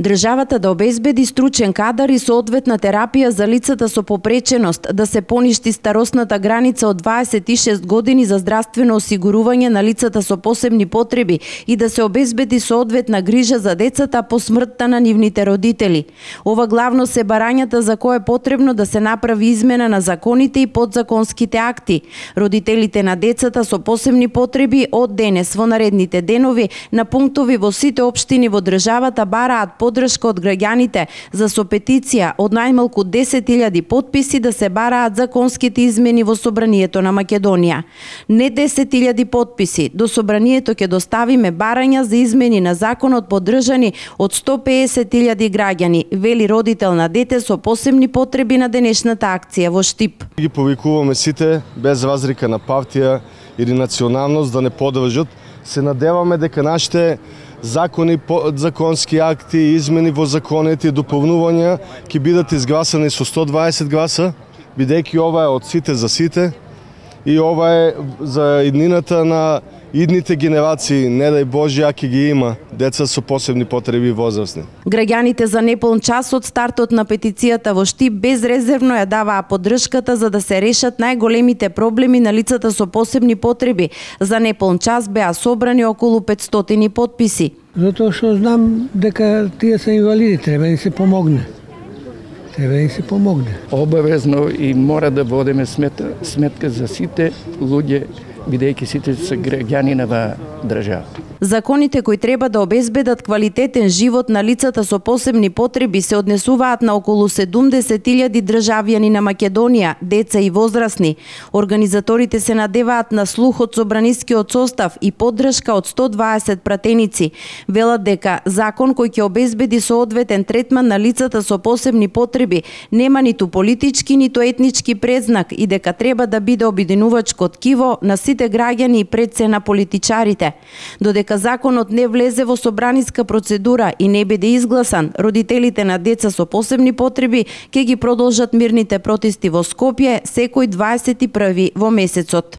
Државата да обезбеди стручен кадар и соодветна терапија за лицата со попреченост, да се поништи старосната граница од 26 години за здравствено осигурување на лицата со посебни потреби и да се обезбеди соодветна грижа за децата по смртта на нивните родители. Ова главно се барањата за кое е потребно да се направи измена на законите и подзаконските акти. Родителите на децата со посебни потреби од денес во наредните денови на пунктови во сите општини во државата бараат поддршка од граѓаните за со петиција од најмалку 10.000 потписи да се бараат законските измени во Собранието на Македонија. Не 10.000 потписи, до Собранието ќе доставиме барања за измени на законот поддржани од 150.000 граѓани, вели родител на дете со посебни потреби на денешната акција во Штип. Ги повикуваме сите без разлика на партија или националност да не поддржат. Се надеваме дека нашите закони, подзаконски акти, измени во законите и дополнувања ќе бидат изгласани со 120 гласа, бидејќи ова е од сите за сите и ова е за иднината на идните генерации, не дај Боже, ако ги има деца со посебни потреби возрастни. Граѓаните за неполн час од стартот на петицијата во Штип безрезервно ја даваа поддршката за да се решат најголемите проблеми на лицата со посебни потреби. За неполн час беа собрани околу 500 потписи. Затоа што знам дека тие се инвалиди, треба да се помогне. Треба да се помогне. Обавезно и мора да водиме сметка за сите луѓе, бидејќи сите се граѓани на држава. Законите кои треба да обезбедат квалитетен живот на лицата со посебни потреби се однесуваат на околу 70.000 државјани на Македонија, деца и возрастни. Организаторите се надеваат на слух од собранискиот состав и поддршка од 120 пратеници. Велат дека закон кој ќе обезбеди соодветен третман на лицата со посебни потреби нема ниту политички, ниту етнички предзнак и дека треба да биде обединувачко ткиво на сите граѓани и пред се на политичарите. Додека законот не влезе во собраниска процедура и не биде изгласан, родителите на деца со посебни потреби ќе ги продолжат мирните протести во Скопје секој 21 во месецот.